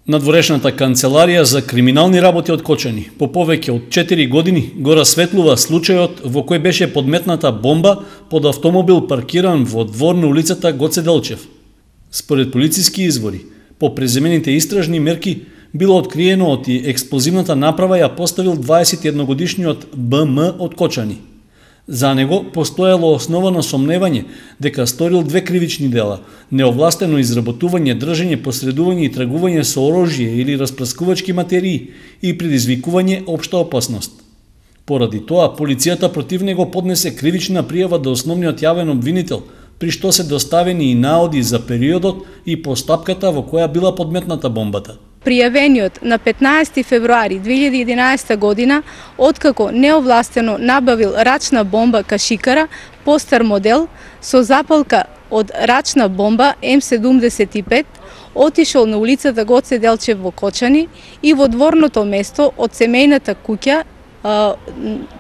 Надворешната канцеларија за криминални работи од Кочани по повеќе од 4 години го расветлува случајот во кој беше подметната бомба под автомобил паркиран во двор на улицата Гоце Делчев. Според полициски извори, по преземените истражни мерки било откриено од експлозивната направа ја поставил 21-годишниот БМ од Кочани. За него постоело основано сомневање дека сторил две кривични дела: неовластено изработување, држење, посредување и тргување со оружје или распрскувачки материи и предизвикување општа опасност. Поради тоа, полицијата против него поднесе кривична пријава до основниот јавен обвинител, при што се доставени и наоди за периодот и постапката во која била подметната бомбата. Пријавениот на 15 февруари 2011 година, откако неовластено набавил рачна бомба кашикара, постар модел, со запалка од рачна бомба М75, отишол на улицата Гоце Делчев во Кочани и во дворното место од семејната куќа,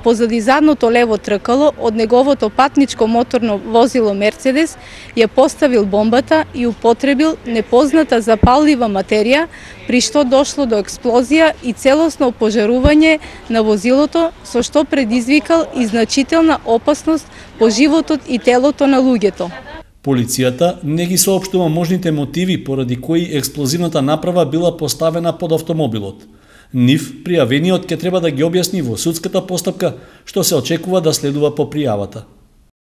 позади задното лево тркало од неговото патничко моторно возило Мерцедес, ја поставил бомбата и употребил непозната запаллива материја, при што дошло до експлозија и целосно пожарување на возилото, со што предизвикал и значителна опасност по животот и телото на луѓето. Полицијата не ги соопштува можните мотиви поради кои експлозивната направа била поставена под автомобилот. Нив пријавениот ќе треба да ги објасни во судската постапка, што се очекува да следува по пријавата.